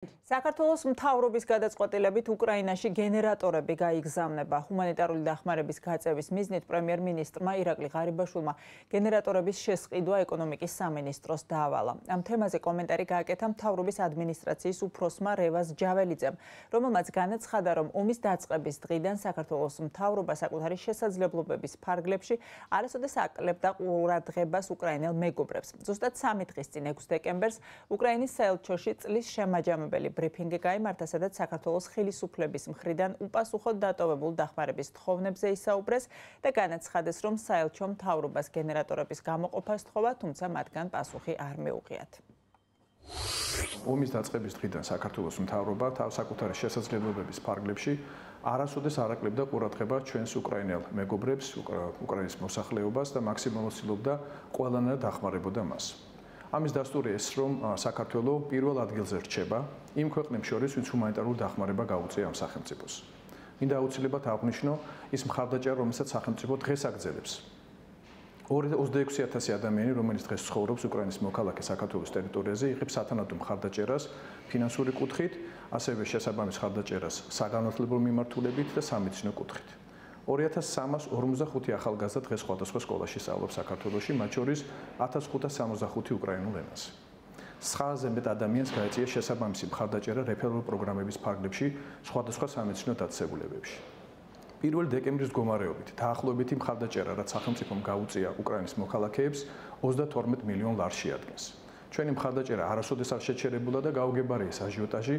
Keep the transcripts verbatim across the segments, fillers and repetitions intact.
საქართველოს მთავრობის გადაწყვეტილებით უკრაინაში გენერატორები გაიგზავნება. ჰუმანიტარული დახმარების გაწევის მიზნით პრემიერ-მინისტრმა ირაკლი ღარიბაშვილმა გენერატორების შესყიდვა ეკონომიკის სამინისტროს დაავალა. ამ თემაზე კომენტარი გააკეთა მთავრობის ადმინისტრაციის უფროსმა რევაზ ჯაველიძემ, რომელმაც განაცხადა, რომ ომის დაწყების დღიდან საქართველოს მთავრობა საკუთარი შესაძლებლობების ფარგლებში არასოდეს აკლებდა ყურადღებას უკრაინელ მეგობრებს. ზუსტად სამი დღის წინ ექვსი დეკემბერს უკრაინის საელჩოში წლის შემაჯამებელი ბრიფინგი გაიმართა, სადაც საქართველოს ხელისუფლების მხრიდან უპასუხოდ დატოვებულ დახმარების თხოვნებზე ისაუბრეს და განაცხადეს, რომ საელჩო მთავრობას გენერატორების გამოყოფას სთხოვა, თუმცა მათგან პასუხი არ მეუღიათ. ომის დაწყების დღიდან საქართველოს მთავრობა თავ საკუთარი შესაძლებლობების ფარგლებში არასოდეს არ აკლებდა ყურადღებას ჩვენს უკრაინელ მეგობრებს, უკრაინის მოსახლეობას და მაქსიმალურად ცდილობდა ყველანაირად დახმარებოდა მას. ამის დასტური ეს, რომ საქართველოს პირველ ადგილზე რჩება იმ ქვეყნებს შორის, ვინც ჰუმანიტარული დახმარება გაუწია ამ სახელმწიფოს. მინდა აუცილებლად აღვნიშნო ის მხარდაჭერა, რომელსაც სახელმწიფო დღეს აგრძელებს. ოცდაექვსი ათასი ადამიანი, რომელიც დღეს ცხოვრობს უკრაინის მოქალაქე საქართველოს ტერიტორიაზე, იღებს სათანადო მხარდაჭერას ფინანსური კუთხით, ასევე შესაბამის მხარდაჭერას საგანმანათლებლო მიმართულებით და სამედიცინო კუთხით. ორი ათას სამას ორმოცდახუთი ახალგაზრდა დღეს სხვადასხვა სკოლაში სწავლობს საქართველოში, მათ შორის ათას ხუთას სამოცდახუთი უკრაინულ ენაზე. ცხრააზე მეტ ადამიანს გაეწია შესაბამისი მხარდაჭერა რეფერალურ პროგრამების ფარგლებში სხვადასხვა სამედიცინო დაწესებულებებში. პირველი დეკემბრის მდგომარეობით დაახლოებითი მხარდაჭერა, რაც სახელმწიფომ გაუწია უკრაინის მოქალაქეებს, ოცდათორმეტ მილიონ ლარს შეადგენს. ჩვენი მხარდაჭერა არასოდეს არ შეჩერებულა და გაუგებარია ეს აჟიოტაჟი,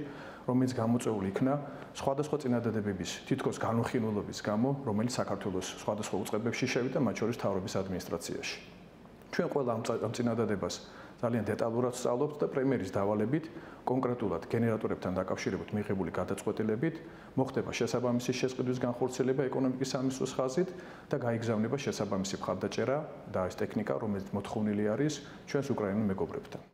რომელიც გამოწვეული იქნა სხვადასხვა წინადადებების თითქოს განუხილველობის გამო, რომელიც საქართველოს სხვადასხვა უწყებებში შევიდა, მათ შორის მთავრობის ადმინისტრაციაში. ჩვენ ყველა ამ წინადადებას ძალიან დეტალურად ვსწავლობთ და პრემიერის დავალებით, კონკრეტულად გენერატორებთან დაკავშირებით მიღებული გადაწყვეტილებით, მოხდება შესაბამისი შესყიდვის განხორციელება ეკონომიკის სამინისტროს ხაზით და გაიგზავნება შესაბამისი მხარდაჭერა და ეს ტექნიკა, რომელიც მოთხოვნილი არის ჩვენს უკრაინულ მეგობრებთან.